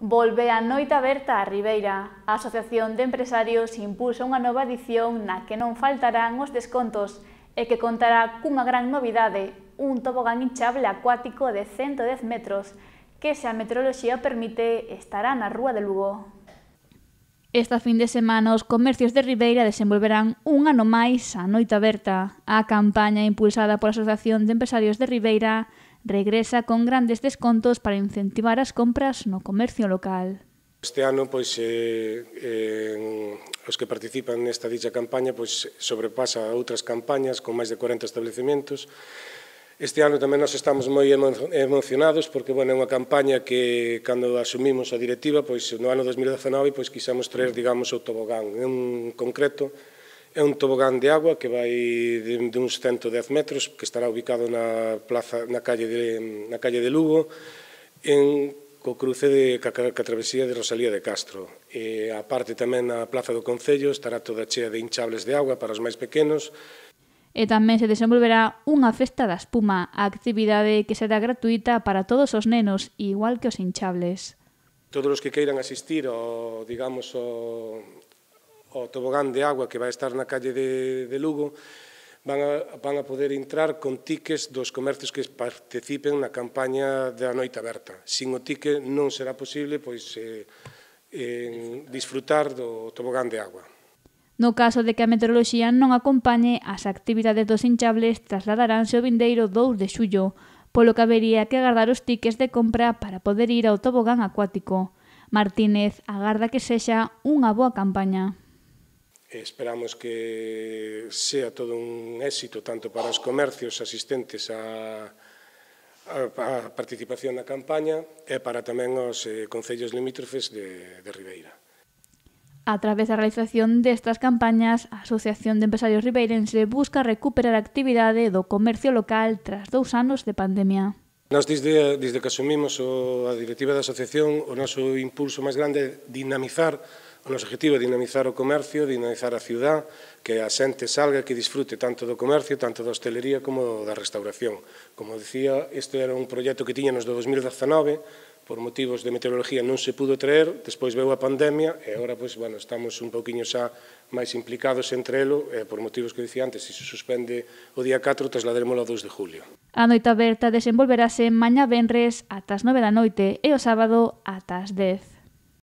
Volve a noite aberta a Ribeira. A Asociación de Empresarios impulsa unha nova edición na que non faltarán os descontos e que contará cunha gran novidade, un tobogán hinchable acuático de 110 metros, que, se a meteoroloxía permite, estará na Rúa de Lugo. Esta fin de semana os comercios de Ribeira desenvolverán un ano máis a noite aberta. A campaña impulsada pola Asociación de Empresarios de Ribeira regresa con grandes descontos para incentivar as compras no comercio local. Este ano, os que participan nesta dicha campaña sobrepasa a outras campañas con máis de 40 establecementos. Este ano tamén nos estamos moi emocionados porque é unha campaña que, cando asumimos a directiva, no ano 2019, quixemos traer, digamos, o tobogán. En concreto, é un tobogán de agua que vai de uns 110 metros, que estará ubicado na calle de Lugo, co cruce ca travesía de Rosalía de Castro. A parte tamén a Plaza do Concello estará toda chea de hinchables de agua para os máis pequenos. E tamén se desenvolverá unha festa da espuma, a actividade que será gratuita para todos os nenos, igual que os hinchables. Todos os que queiran asistir ao tobogán de agua que vai estar na calle de Lugo van a poder entrar con tickets dos comercios que participen na campaña da noite aberta. Sin o ticket non será posible disfrutar do tobogán de agua. No caso de que a meteoroloxía non acompañe, as actividades dos hinchables trasladaranse o vindeiro 2 de xullo, polo que habería que agardar os tickets de compra para poder ir ao tobogán acuático. Martínez agarda que sexa unha boa campaña. Esperamos que sea todo un éxito tanto para os comercios asistentes a participación na campaña e para tamén os concellos limítrofes de Ribeira. A través da realización destas campañas, a Asociación de Empresarios Ribeirense busca recuperar a actividade do comercio local tras 2 anos de pandemia. Nós, desde que asumimos a directiva da asociación, o noso impulso máis grande é dinamizar. O noso objetivo é dinamizar o comercio, dinamizar a ciudad, que a xente salga, que disfrute tanto do comercio, tanto da hostelería como da restauración. Como dicía, este era un proxecto que tiñanos do 2019, por motivos de meteoroloxía non se pudo traer, despois veu a pandemia e agora estamos un pouquiño xa máis implicados entre elo, e por motivos que dicía antes, se suspende o día 4, trasladaremos ao 2 de julio. A noite aberta desenvolverase mañá venres ata as 9 da noite e o sábado ata as 10.